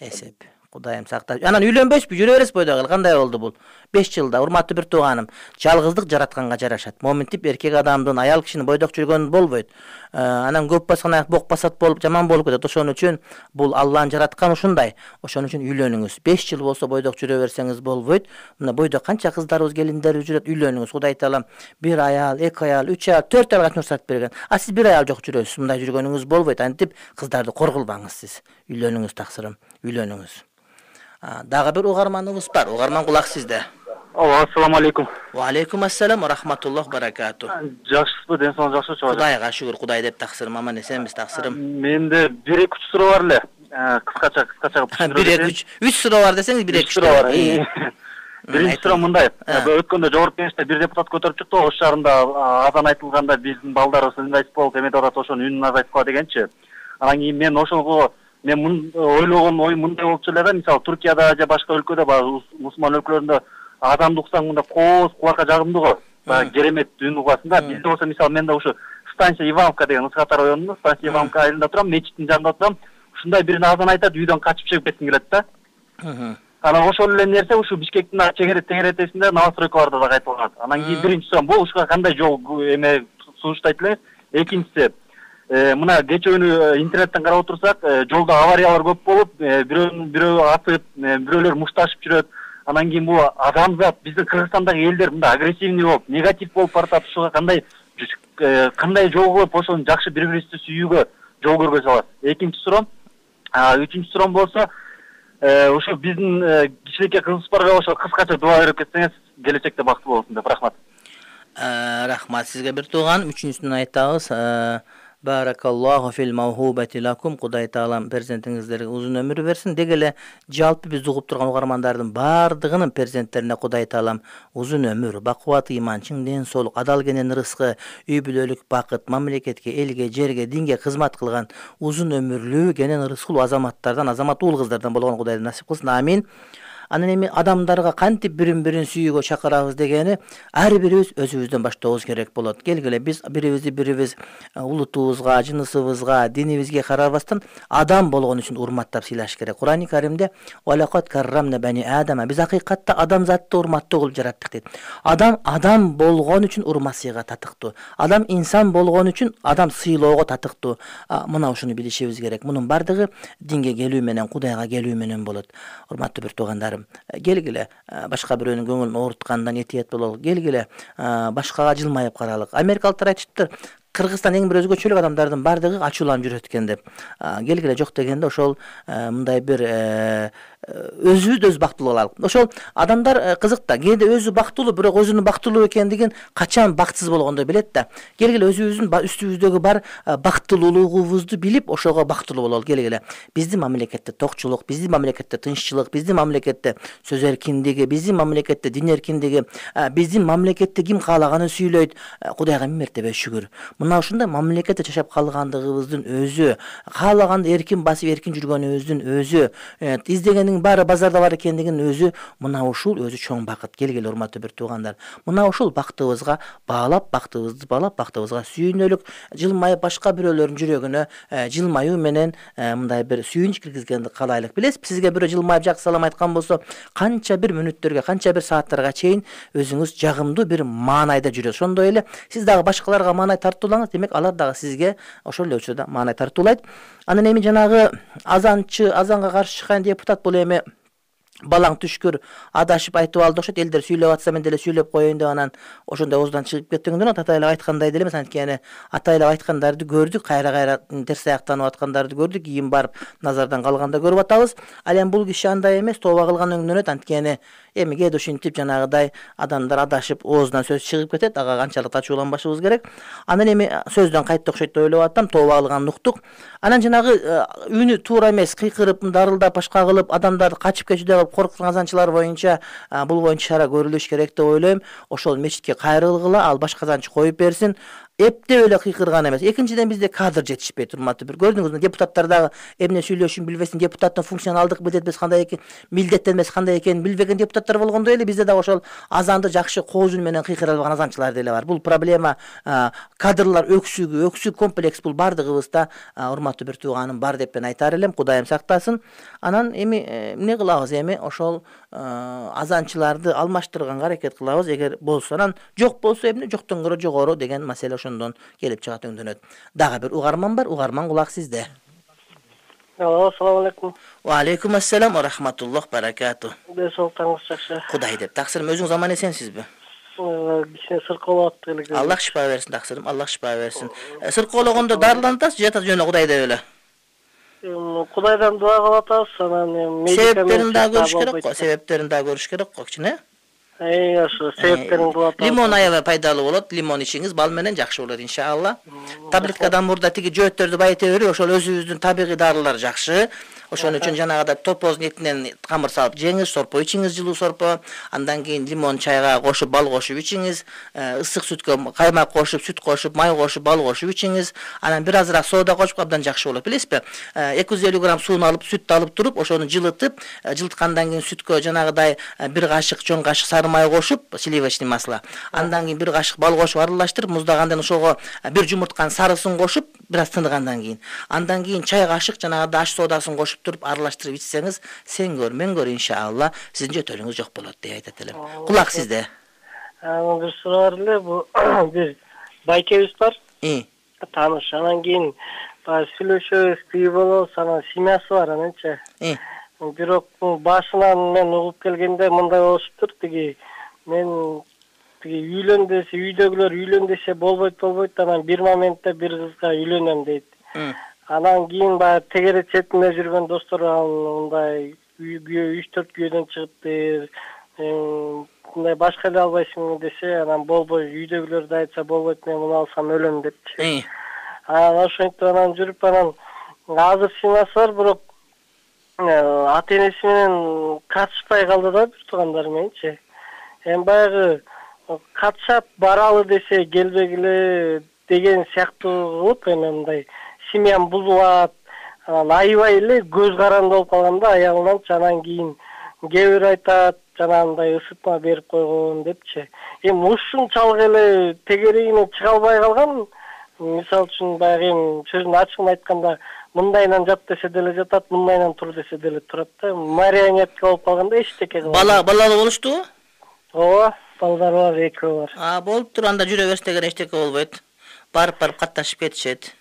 Эсеп. Кудайым сактап. Анан үйлөнбөйсүзбү, жүрө бересиз бойдогу. Кандай болду бул? беш жылда, урматтуу бир тууганым, жалгыздык жаратканга жарашат. Моминтип эркек адамдын, аял кишинин бойдок жүргөнү болбойт. Анан көп баскан аяк бок басат болуп, жаман болуп кетет. Ошон үчүн бул Аллахын жараткан ушундай. Ошон үчүн үйлөнүңүз. беш жыл болсо бойдок жүрө берсеңиз болбойт. Мына бойдок канча кыздарыбыз, келиндерибиз жүрөт, үйлөнүңүз. Кудай таалам бир аял, эки аял, үч аял, төрт аял рөхсат берген. А сиз бир аял жок жүрөсүз. Мындай жүргөнүңүз болбойт. Антип кыздарды коргулбаңыз сиз. Үйлөнүңүз таксырым, үйлөнүңүз. Дагы бир угарманыбыз бар. Угарман кулак сизде. Ассаламу алейкум. Ва алейкум ассалам ва рахматуллах баракату. Жакшысызбы, ден соолугуңуз жакшы чыгат? Кудайга шүгүр, Кудай деп таксырым, аман эсенбиз таксырым. Менде бир эки үч суроо бар эле. Кыскача, кыскача кылып бир эки үч үч суроо бар десеңиз бир эки үч суроо бар. Биринчи суроо мындай. Өткөндө жогорку кеңеште бир депутат көтөрүп чыкты, Ош шаарында азан айтылганда биздин балдарыбыз ыңгайсыз болуп эметип атат, ошонун үнүн азайтпа дегенчи. Анан кийин мен ошого мен ойлогон ой мындай болчу эле да, мисалы Туркияда же башка өлкөдө, баягы мусулман өлкөлөрүндө адамды уксаң мындай кооз кулакка жагымдуу го. Баягы керемет үн угасың да. Бизде болсо мисалы менде ушу станция Ивановка деген ысыктар районунда, станция Ивановка айылында турам, мечиттин жанында турам. Ушундай бирин азан айтат, үйдөн качып чыгып кетким келет да. Анан ошол эле нерсе ушу Бишкектин чегерет тегеретесинде новостройкаларда да кайтылган. Анан кийин биринчи сурам бул ушуга кандай жол эме сунуштайт эле? Экинчиси, мына кечөөнү интернеттен карап отурсак, жолдо авариялар көп болуп, бирөө бирөө атып, бирөөлөр мушташып жүрөт. Анан кийин бул адамзат, биздин Кыргызстандагы элдер мындай агрессивный болуп, негатив болуп баратат. Ушуга кандай кандай жол кылып ошону жакшы бири-бирибизди сүйүүгө жол көргөзө алат? Экинчи сурам. Үчүнчү сурам болсо, ошо биздин кичинекей кызыбыз барга ошо кыскача дуа берип кетсеңиз, келечекте бактылуу болсун деп. Рахмат. Рахмат сизге бир тууган. Үчүнчүсүн айтабыз. Баракаллаху фил мавхубати лакум. Кудай таалам перзентиңиздерге узун өмүр берсин. Деги эле жалпы биз угуп турган угармандардын бардыгынын перзенттерине Кудай таалам узун өмүр, бакубат ыйман, чың ден соолук, адал кенен рызкы, үй бүлөлүк бакыт, мамлекетке, элге, жерге, динге кызмат кылган узун өмүрлүү, кенен рызкылуу азаматтардан, азамат уул кыздардан болгон Кудай насип кылсын. Амин. Анан эми адамдарга кантип бирин-бирин сүйүүгө чакырабыз дегени ар бирибиз өзүбүздөн баштообуз керек болот. Келгиле биз бирибизди бирибиз улутубузга, жынысыбызга, динибизге карабастан адам болгон үчүн урматтап сыйлаш керек. Кур'ан-ы Каримде «Валакат каррамна бани Адама» биз акыйкатта адамзатты урматтуу кылып жараттык дейт. Адам адам болгон үчүн урмат сыйга татыктуу. Адам инсан болгон үчүн адам сыйлоого татыктуу. Мына ушуну билишибиз керек. Мунун бардыгы динге келүү менен, Кудайга келүү менен болот. Урматтуу бир туугандарым, келгиле башка бирөөнүн көңүлүн ооруткандан этият бололу. Келгиле башкага жылмайып каралык. Америкалыктар айтыптыр, Кыргызстан эң бир өзгөчөлүк адамдардын бардыгы ачууланып жүрөт экен деп. Келгиле жок дегенде ошол мындай бир өзүбүз өз бактылуу алалык. Ошол адамдар кызык да, кээде өзү бактылуу, бирок өзүнүн бактылуу экендигин качан бактсыз болгондо билет да. Келгиле өзүбүздүн үстүбүздөгү бар бактылуулугубузду билип, ошого бактылуу бололу. Келгиле биздин мамлекетте токчулук, биздин мамлекетте тынччылык, биздин мамлекетте сөз эркиндиги, биздин мамлекетте дин эркиндиги, биздин мамлекетте ким каалаганын сүйлөйт. Кудайга миң мертебе шүгүр. Мына ушундай мамлекетте жашап калгандыгыбыздын өзү, каалаганды эркин басып эркин жүргөнүбүздүн өзү, издегенин баары базарда бар экендигинин өзү, мына ушул өзү чоң бакыт. Келгиле урматтуу бир туугандар, мына ушул бактыбызга баалап, бактыбызды баалап, бактыбызга сүйүнөлүк, жылмайып башка бирөөлөрдүн жүрөгүнө жылмаюу менен мындай бир сүйүнүч киргизгенди каалайлык. Билесизби, сизге бирөө жылмайып жакшы салам айткан болсо, канча бир мүнөттөргө, канча бир сааттарга чейин өзүңүз жагымдуу бир маанайда жүрөсүз. Ошондой эле сиз дагы башкаларга маанай тартуулаңыз, демек алар дагы сизге ошол эле учурда маанай тартуулайт. Анан эми жанагы азанчы, азанга каршы чыккан депутат бул эми балаң түшкүр адашып айтып алды окшойт, элдер сүйлөп атса мен деле сүйлөп коеюн деп анан ошондой оозунан чыгып кеттигинден атайлап айткандай деле эмес. Анткени атайлап айткандарды көрдүк, кайра-кайра терс аяктанып аткандарды көрдүк, кийин барып назардан калганда көрүп атабыз. Ал эми бул киши андай эмес, тооба кылган өңдөнөт. Анткени эми кээде ушинтип жанагыдай адамдар адашып оозунан сөз чыгып кетет, ага канчалык ачууланбашыбыз керек. Анан эми сөздөн кайтты окшойт деп ойлоп атам, тооба кылганын уктук. Анан жанагы үнү туура эмес, кыйкырып, дарылдап, башка кылып адамдарды качып кетүүдө кылып коркуткан азанчылар боюнча бул боюнча чара көрүлүш керек деп ойлойм. Ошол мечитке кайрылгыла, ал башка азанчы коюп берсин. Эптеп эле кыйкырган эмес. Экинчиден бизде кадр жетишпейт, урматтуу бир. Көрдүңүзбү, депутаттар дагы эмне сүйлөшүшүн билбесин, депутаттын функционалдык милдетмеси кандай экен, милдеттенмеси кандай экенин билбеген депутаттар болгондой эле бизде дагы ошол азанды жакшы кооз үн менен кыйкыра албаган азанчылар деле бар. Бул проблема кадрлар өксүгү, өксүк комплекс бул бардыгыбызда, урматтуу бир тууганым, бар деп мен айтар элем. Кудайым сактасын. Анан эми эмне кылабыз эми ошол азанчыларды алмаштырганга аракет кылабыз. Эгер болсо анан жок болсо эмне, жоктон көрө жогору деген маселе ошондон келип чыгат өңдөнөт. Дагы бир угарман бар, угарман кулак сизде. Алло, ассаламу алейкум. Ва алейкум ассалам ва рахматуллах баракату. Десолтаңыз жакшы. Кудай деп. Таксырым, өзүңүз аман эсенсизби? Кичине сыркоолоп аттык эле. Аллах шифа берсин, таксырым, Аллах шифа берсин. Сыркоологондо дарыланып атасыз, же ата жөнү Кудай деп эле? Кудайдан дуа кылып атабыз, анан себептерин дагы көрүш керек го, себептерин дагы көрүш керек го, кичине. Эй, ошо себептерин кылып атабыз. Лимон аябай пайдалуу болот, лимон ичиңиз, бал менен жакшы болот иншалла. Таблеткадан мурда тиги жөөттөрдү байыта берип, ошол өзүбүздүн табигый дарылар жакшы. Ошон үчүн жанагыда топоздун этинен камыр салып жеңиз, сорпо ичиңиз, жылуу сорпо. Андан кийин лимон чайга кошуп, бал кошуп ичиңиз, ысык сүткө каймак кошуп, сүт кошуп, май кошуп, бал кошуп ичиңиз. Анан бир азыраак соода кошуп абдан жакшы болот, билесизби? эки жүз элүү грамм сууну алып, сүттү алып туруп, ошону жылытып, жылыткандан кийин сүткө жанагыдай бир кашык, чоң кашык сары май кошуп, сливочный масло. Андан кийин бир кашык бал кошуп аралаштырып, муздагандан ошого бир жумуртканын сарысын кошуп, бир аз тыныгандан кийин. Андан кийин чай кашык жанагыдай аш соодасын кошуп туруп аралаштырып ичсеңиз, сен көр, мен көр, иншалла сиздин жөтөлүңүз жок болот деп айтат элем. Кулак сизде. Анан бир суроо бар эле, бул бир байкебиз бар. И. Тааныш. Анан кийин баягы сүйлөшөбүз, бий болобуз, анан семьясы бар ананчы. И. Бирок башынан мен угуп келгенде мындай болуштур, тиги мен тиги үйлөн десе, үйдөгүлөр үйлөн десе болбойт, болбойт, анан бир моментте бир кызга үйлөнөм дейт. Анан кийин баягы тегере четинде жүргөн достор мындай күйөө үч төрт күйөөдөн чыгыптыр, мындай башка эле албайсың десе, анан болбой, үйдөгүлөр да айтса болбойт, мен муну алсам өлөм депчи. Анан ошентип анан жүрүп, анан азыр семьясы бар, бирок ата энеси менен катышпай калды да, бир туугандары мененчи. Эми баягы катышат, баралы десе келбегиле деген сыяктуу кылып, эми мындай семьям бузулат, анан аябай эле көз каранды болуп калганда аягынан, анан кийин кээ бир айтат, жанагындай ысытма берип койгон депчи. Эми ушунчалык эле тегерегинен чыга албай калган. Мисалы үчүн баягы эми сөзүн ачыгын айтканда, мындайынан жат десе деле жатат, мындайынан тур десе деле турат да. Марионетка болуп калганда эчтеке кылбайт. Бала балалы болуштубу? Ооба, балдар бар, экөө бар. А, болуптур, анда жүрө берсе деген эчтеке болбойт. Барып-барып катташып кетишет.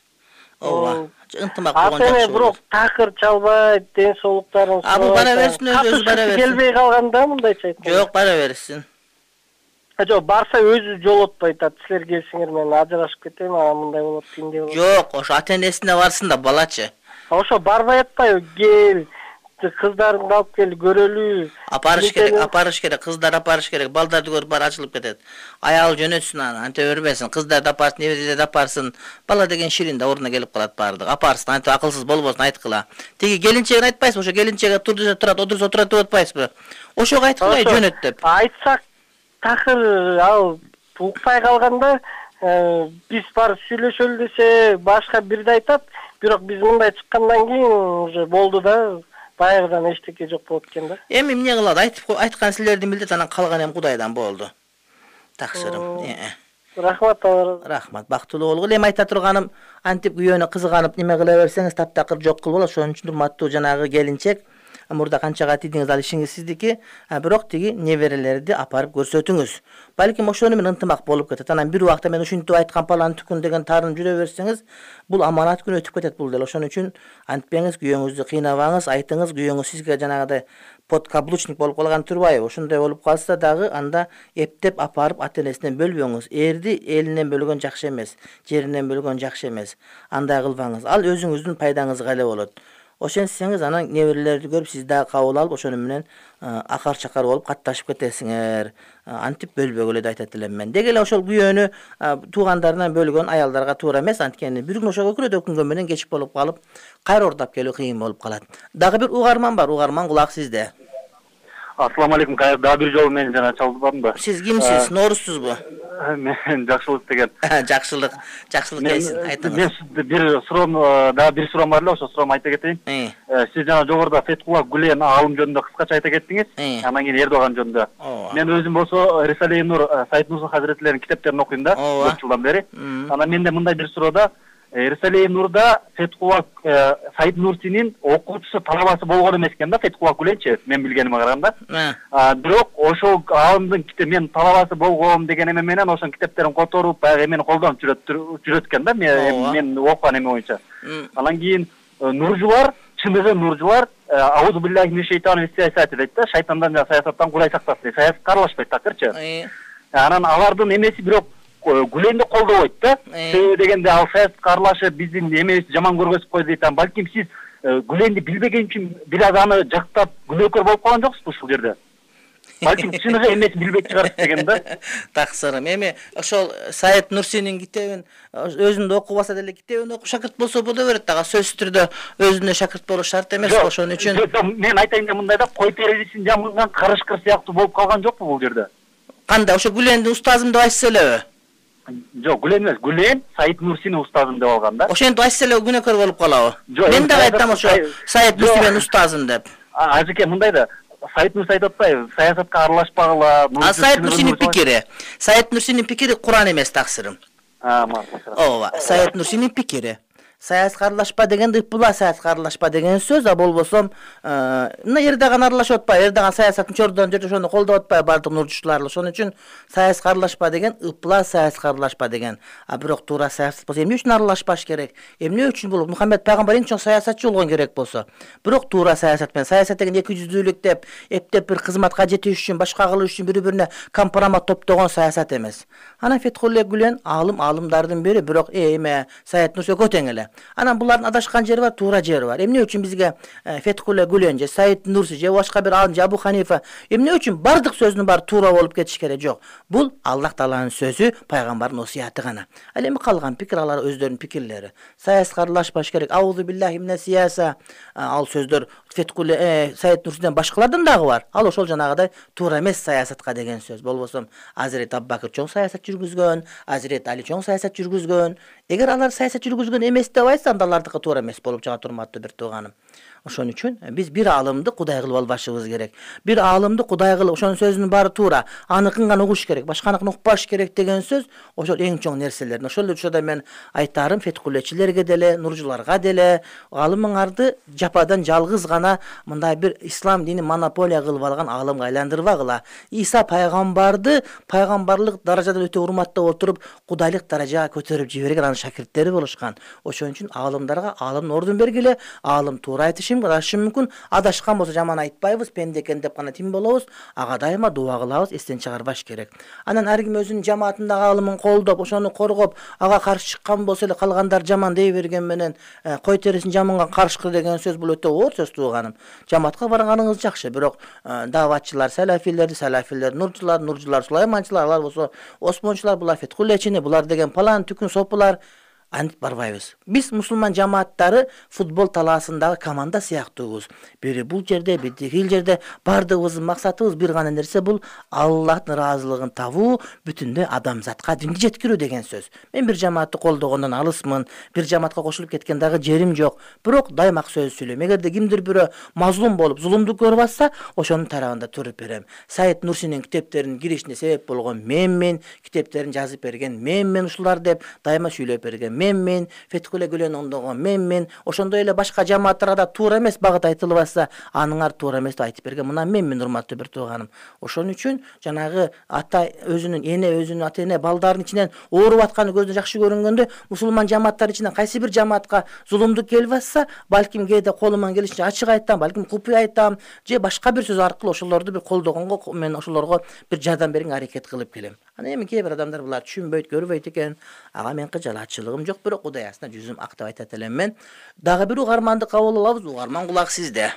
Ооба. Ынтымак болгон жакшы. Ата-эне бирок такыр чалбайт, ден соолуктарын сурабайт. А, бул бара берсин, өзү бара берсин. Келбей калганда мындайча айтканда. Жок, бара берсин. Жок, барса өзү жолотпой айтат. Силер келсиңер, мен ажырашып кетем, анан мындай болот, тиндей болот. Жок, ошо ата-энесине барсын да, балачы. Ошо барбай атпайбы? Кел, кыздарыңды алып кел, көрөлү. Апарыш керек, апарыш керек, кыздар апарыш керек. Балдарды көрүп бара ачылып кетет. Аял жөнөтсүн аны, анте өрбөсүн. Кыздарды апарсын, неберелерди апарсын. Бала деген ширин да ордуна келип калат баардыгы. Апарсын, анте акылсыз болбосун, айткыла. Тиги келинчегин айтпайсызбы? Ошо келинчеге тур десе турат, отурса турат деп атпайсызбы? Ошого айткыла, жөнөт деп. Айтсак такыр ал укпай калганда, биз барып сүйлөшөлү десе башка бирди айтат. Бирок биз мындай чыккандан кийин уже болду да. Баягыдан эчтеке жок болот экен да. Эми эмне кылат? Айтып айткан силердин милдет, анан калган эми Кудайдан болду. Таксырым. Рахмат, алар. Рахмат, бактылуу болгула. Эми айта турганым, антип күйөөнө кызыганып неме кыла берсеңиз таптакыр жок кылып болот. Ошон үчүн урматтуу жанагы келинчек, мурда канчага тийдиңиз ал ишиңиз сиздики, бирок тиги неберелерди апарып көрсөтүңүз. Балким ошону менен ынтымак болуп кетет. Анан бир убакта мен ушинтип айткан палан түкүн деген таарынып жүрө берсеңиз, бул аманат күн өтүп кетет бул деле. Ошон үчүн антпеңиз, күйөөңүздү кыйнабаңыз, айтыңыз, күйөөңүз сизге жанагыдай подкаблучник болуп калган турбайбы? Ошондой болуп калса дагы анда эптеп апарып ата-энесинен бөлбөңүз. Эрди элинен бөлгөн жакшы эмес, жеринен бөлгөн жакшы эмес. Андай кылбаңыз. Ал өзүңүздүн пайдаңызга эле болот. Ошентсеңиз анан неберелерди көрүп сиз дагы кабыл алып, ошону менен акар чакар болуп катташып кетесиңер. Антип бөлбөгүлө деп айтат элем мен. Деги эле ошол күйөөнү туугандарынан бөлгөн аялдарга туура эмес, анткени бир күн ошого күрөдө күнгө менен кеч болуп калып, кайра ордоп келүү кыйын болуп калат. Дагы бир угарман бар, угарман кулак сизде. Ассаламу алейкум, дагы бир жолу мени жана чалдыбадымбы? Сиз кимсиз? Нооруссузбу? Мен Жакшылык деген. Жакшылык, Жакшылык келсин, айтыңыз. Мен бир суроом, дагы бир суроом бар эле, ошо суроомду айта кетейин. Сиз жана жогоруда Феткулла Гүлен аалым жөнүндө кыскача айта кеттиңиз, анан кийин Эрдоган жөнүндө. Мен өзүм болсо Рисале Нур Саид Нурси Хазиретлеринин китептерин окуйм да, көп жылдан бери. Анан менде мындай бир суроодо Рисале Нурда Феткулла Саид Нурсинин окуучусу талабасы болгон эмес экен да, Феткулла Гүленчи, мен билгениме караганда. Бирок ошол аалымдын китеп мен талабасы болгом деген эме менен ошонун китептерин которуп, баягы эмени колдонуп жүрөт экен да, мен окуган эме боюнча. Анан кийин нуржулар, чыныгы нуржулар аузу биллахи минеш шейтани саясаты дейт да, шайтандан жана саясаттан Кудай сактасын дейт. Саясатка аралашпайт такырчы. Анан алардын эмеси бирок Гүленди колдобойт да. Себеби дегенде ал саясатка аралашып биздин эмебизди жаман көргөзүп койду дейт. Балким сиз Гүленди билбеген үчүн бир аз аны жактап күнөөкөр болуп калган жоксузбу ушул жерде? Балким чыныгы эмеси билбей чыгарсыз деген да. Таксырым. Эми ошол Саид Нурсинин китебин өзүндө окубаса деле китебин окуп шакырт болсо боло берет дагы. Сөзсүз түрдө өзүнө шакырт болуш шарт эмес, ошон үчүн. Мен айтайын да мындай да, кой терезесин жамылган карышкыр сыяктуу болуп калган жокпу бул жерде? Кандай, ошо Гүлендин устазым деп айтса элеби? Жок, Гүлен эмес, Гүлен Саид Нурсинин устазым деп алган да. Ошентип айтса эле күнөөкөр болуп калабы? Мен дагы айтам ошо Саид Нурсинин устазым деп. Ажеке мындай да, Саид Нурси айтып атпайбы, саясатка аралашпагыла. А Саид Нурсинин пикири, Саид Нурсинин пикири Куран эмес, таксырым. А, мактап. Ооба, Саид Нурсинин пикири. Саясатка аралашпа дегенде ыппыла саясатка аралашпа деген сөз, а болбосом мына Эрдоган аралашып атпайбы, Эрдоган саясатын чордон жерде ошону колдоп атпайбы бардык нурчулар. Ошон үчүн саясатка аралашпа деген ыппыла саясатка аралашпа деген. А бирок туура саясат болсо эмне үчүн аралашпаш керек? Эмне үчүн бул Мухаммед пайгамбар эң чоң саясатчы болгон керек болсо? Бирок туура саясат менен саясат деген эки жүздүүлүк деп, эптеп бир кызматка жетиш үчүн, башка кылыш үчүн бири-бирине компромат топтогон саясат эмес. Анан Феткулла Гүлен аалым, аалымдардын бири, бирок эме Саид Нурси экөө тең эле. Анан булардын адашкан жери бар, туура жери бар. Эмне үчүн бизге Феткулла Гүлен же Саид Нурси же башка бир аалым же Абу Ханифа эмне үчүн бардык сөзүнүн баары туура болуп кетиш керек? Жок. Бул Аллах Тааланын сөзү, пайгамбардын осуяты гана. Ал эми калган пикир алар өздөрүнүн пикирлери. Саясатка аралашпаш керек. Аузу биллахи минес сияса. Ал сөздөр Феткулла Саид Нурсиден башкалардан дагы бар. Ал ошол жанагыдай туура эмес саясатка деген сөз. Болбосом Азирет Абубакыр чоң саясат жүргүзгөн, Азирет Али чоң саясат жүргүзгөн. Эгер алар саясат жүргүзгөн эмес деп айтса, анда алардыкы туура эмес болуп чыгат, урматтуу бир тууганым. Ошон үчүн биз бир аалымды Кудай кылып албашыбыз керек. Бир аалымды Кудай кылып, ошонун сөзүнүн баары туура, аныкын гана угуш керек, башканыкын укпаш керек деген сөз ошол эң чоң нерселер. Ошол учурда мен айтарым Феткуллечилерге деле, нуржуларга деле, аалымыңарды жападан жалгыз гана мындай бир ислам дини монополия кылып алган аалымга айландырбагыла. Иса пайгамбарды пайгамбарлык даражадан өтө урматтап отуруп, кудайлык даражага көтөрүп жиберген анын шакирттери болушкан. Ошон үчүн аалымдарга аалымдын ордун бергиле, аалым туура айтышы адашы мүмкүн, адашкан болсо жаман айтпайбыз, пенде экен деп гана тим болобуз, ага дайыма дуа кылабыз, эстен чыгарбаш керек. Анан ар ким өзүнүн жамаатындагы аалымын колдоп, ошону коргоп, ага каршы чыккан болсо эле калгандар жаман дей берген менен кой терисин жаманга каршкы деген сөз бул өтө оор сөз тууганым. Жамаатка барганыңыз жакшы, бирок даватчылар салафилер, салафилер нурчулар, нурчулар сулайманчылар, алар болсо осмончулар, булар Феткуллечини, булар деген палан түкүн сопулар антип барбайбыз. Биз мусулман жамааттары футбол талаасындагы команда сыяктуубуз. Бири бул жерде, бири тигил жерде, бардыгыбыздын максатыбыз бир гана нерсе, бул Аллахтын ыраазылыгын табуу, бүтүндөй адамзатка динди жеткирүү деген сөз. Мен бир жамаатты колдогондон алысмын, бир жамаатка кошулуп кеткен дагы жерим жок. Бирок дайыма сөз сүйлөйм. Эгерде кимдир бирөө мазлум болуп, зулумду көрүп атса, ошонун тарабында туруп берем. Саид Нурсинин китептеринин киришине себеп болгон менмен, китептерин жазып берген менмен ушулар деп дайыма сүйлөп берген менмин, Фетхуле Гүлен оңдогон менмин, ошондой эле башка жамааттарга да туура эмес багыт айтылып атса, аныңар туура эмес деп айтып берген. Мына менмин, урматтуу бир тууганым. Ошон үчүн жанагы ата өзүнүн эне өзүнүн ата эне балдарынын ичинен ооруп атканы көздөн жакшы көрүнгөндө, мусулман жамааттар ичинен кайсы бир жамаатка зулумдук келип атса, балким кээде колуман келишинче ачык айтам, балким купуй айтам, же башка бир сөз аркылуу ошолорду бир колдогонго мен ошолорго бир жардам берүүгө аракет кылып келем. Ана эми кээ бир адамдар булар түшүнбөйт, көрбөйт экен. Ага мен кыжалатчылыгым жок, бирок Кудай астына жүзүм ак деп айтат элем мен. Дагы бир угарманды кабыл алабыз. Угарман кулак сизде.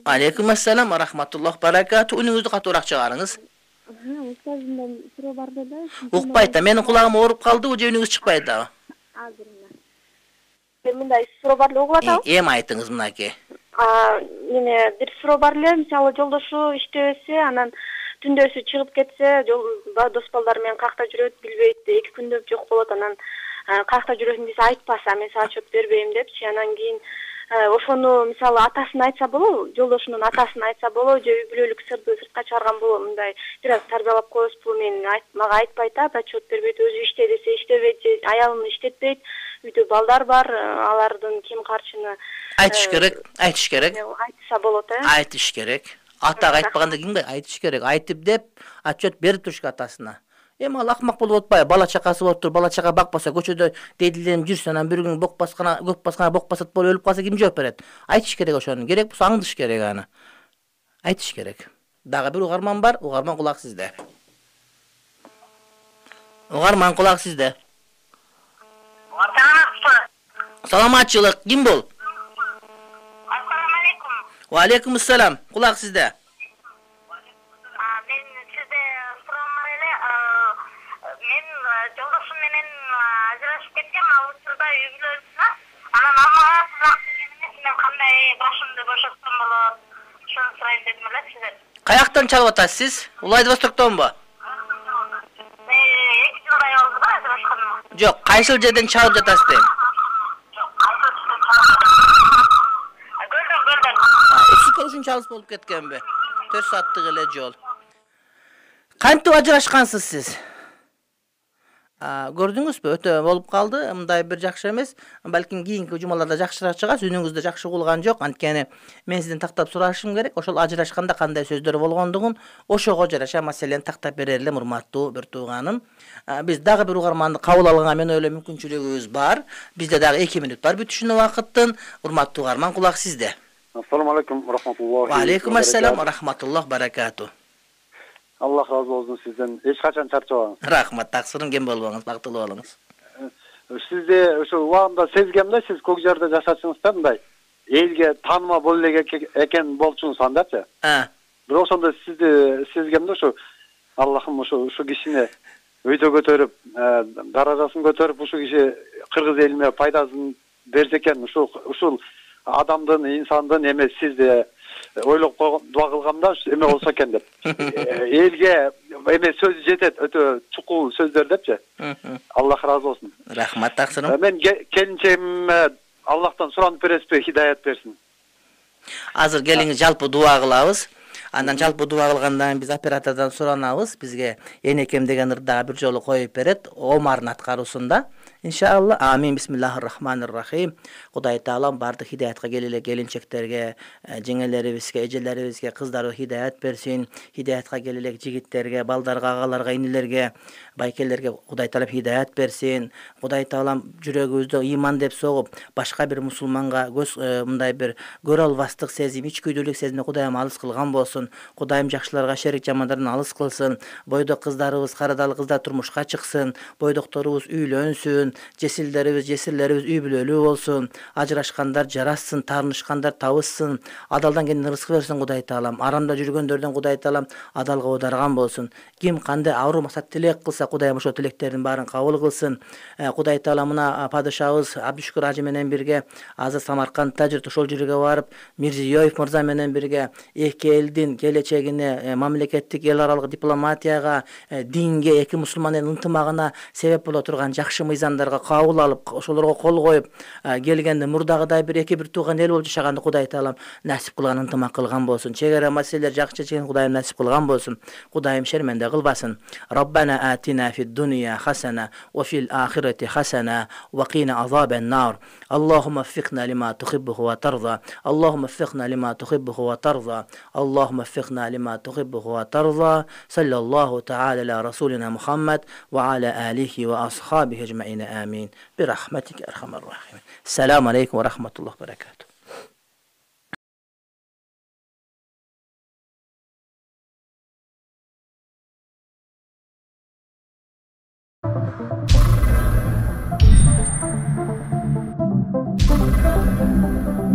Алейкум ассалам ва рахматуллах баракату. Үнүңүздү катуураак чыгарыңыз. Устазымдан суроо бар да. Укпайт да. Менин кулагым ооруп калдыбы же үнүңүз чыкпайт дагы? Азыр эле. Мындай суроо бар эле, угуп атабы? Эми айтыңыз мынакей. А, эме бир суроо бар эле. Мисалы жолдошу иштебесе, анан түндөсү чыгып кетсе, дос балдар менен каякта жүрөт, билбейт, эки күндөп жок болот, анан каякта жүрөсүң десе айтпаса, мен сага отчет бербейм депчи. Анан кийин ошону мисалы атасына айтса болобу, жолдошунун атасына айтса болобу, же үй бүлөлүк сырды сыртка чыгарган болобу, мындай бир аз тарбиялап коебузбу, мен мага айтпайт, отчет бербейт, өзү иште десе иштебейт, же аялын иштетпейт, үйдө балдар бар, алардын ким карчыны айтыш керек, айтыш керек. Айтса болот, э? Айтыш керек. Атага айтпаганда кимге айтыш керек? Айтып деп отчет берип туруш атасына. Эми ал акмак болуп атпайбы? Бала чакасы болуп туруп, бала чака бакпаса, көчөдө дейдиленип жүрсө, анан бир күн бок баскана, көп баскана бок басат болуп өлүп калса ким жооп берет? Айтыш керек ошону. Керек болсо аңдыш керек аны. Айтыш керек. Дагы бир угарман бар. Угарман кулак сизде. Угарман кулак сизде. Саламатчылык. Ким бул? Ассаламу алейкум. Ва алейкум ассалам. Кулак сизде. Мен сизде суроом бар эле. Мен жолдошум менен ажырашып кеткем, ал учурда үй бүлөлүкмүн. Анан мага сызак берген эмес, мен кандай башымды бошотсом болот? Ошону сурайын дедим эле сизден. Каяктан чалып атасыз? Владивостоктонбу? эки жылдай болду да ажырашканыма. Жок, кайсыл жерден чалып жатасыз дейм? Ишке ушунча алыс болуп кеткенби? төрт сааттык эле жол. Кантип ажырашкансыз сиз? Көрдүңүзбү? Өтө болуп калды. Мындай бир жакшы эмес. Балким кийинки жумаларда жакшыраак чыгасыз. Үнүңүздө жакшы кулган жок. Анткени мен сизден тактап сурашым керек. Ошол ажырашканда кандай сөздөр болгондугун ошого жараша маселени тактап берер элем, урматтуу бир тууганым. Биз дагы бир угарманды кабыл алганга мен ойлойм мүмкүнчүлүгүбүз бар. Бизде дагы эки мүнөт бар бүтүшүнө убакыттын. Урматтуу угарман, кулак сизде. Ассаламу алейкум ва рахматуллахи. Ва алейкум ассалам ва рахматуллахи баракату. Аллах разы болсун сизден. Эч качан чарчабаңыз. Рахмат, таксырым кем болбоңуз, бактылуу болуңуз. Сизде ошо убагында сезгем да, сиз көк жерде жашачыңыз да, мындай элге тааныма боло эле экен болчуңуз андачы. А. Бирок ошондо сизди сезгем да, ошо Аллахым ошо ушу кишини өйдө көтөрүп, даражасын көтөрүп, ушу киши кыргыз элине пайдасын берсе экен, ушул ушул адамдын, инсандын эме сизди ойлоп дуа кылгам да, эме болсо экен деп. Элге эме сөз жетет, өтө чукул сөздөр депчи. Аллах разы болсун. Рахмат, таксырым. Мен келинчегиме Аллахтан суранып бересизби, хидаят берсин. Азыр келиңиз жалпы дуа кылабыз. Андан жалпы дуа кылгандан биз оператордон суранабыз. Бизге энекем деген ырдагы бир жолу коюп берет, омардын аткаруусунда. Иншалла. Амин. Бисмиллахир-рахманир-рахим. Кудай Таалам бардык хидаятка келеле келинчектерге, жеңелерибизге, эжелерибизге, кыздарга хидаят берсин. Хидаятка келеле жигиттерге, балдарга, агаларга, инилерге, байкелерге Кудай Таалам хидаят берсин. Кудай Таалам жүрөгүбүздө иман деп согуп, башка бир мусулманга көз мындай бир көрө албастык сезим, ичкүйдүүлүк сезимди Кудайым алыс кылган болсун. Кудайым жакшыларга, шерик жамандардан алыс кылсын. Бойдок кыздарыбыз, карадалы кыздар турмушка чыксын. Бойдокторубуз үйлөнсүн. Жесилдерибиз, жесирлерибиз үй бүлөлүү болсун. Ажырашкандар жарашсын, таарынышкандар табышсын. Адалдан келген рызык берсин Кудай Таалам. Арамда жүргөндөрдөн Кудай Таалам адалга оодарган болсун. Ким кандай аруу максат тилек кылса, Кудайым ошол тилектердин баарын кабыл кылсын. Кудай Таалам мына падышабыз Абдушкур ажы менен бирге азыр Самаркандта жүрүп, ошол жерге барып, Мирзиёев мырза менен бирге эки элдин келечегине, мамлекеттик эл аралык дипломатияга, динге, эки мусулман элдин ынтымагына себеп боло турган жакшы мыйзамдарга кабыл алып, ошолорго кол коюп келгенде мурдагыдай бир эки бир тууган эл болуп жашаганды Кудай Таалам насип кылган, ынтымак кылган болсун. Чегара маселелер жакшы чечкен Кудайым насип кылган болсун. Кудайым шерменде кылбасын. Роббана атина آتنا في الدنيا حسنة وفي الآخرة حسنة وقنا عذاب النار اللهم وفقنا لما تحبه وترضى اللهم وفقنا لما تحبه وترضى اللهم وفقنا لما تحبه وترضى صلى الله تعالى على رسولنا محمد وعلى آله وأصحابه أجمعين آمين برحمتك أرحم الراحمين. السلام عليكم ورحمة الله وبركاته. Thank you.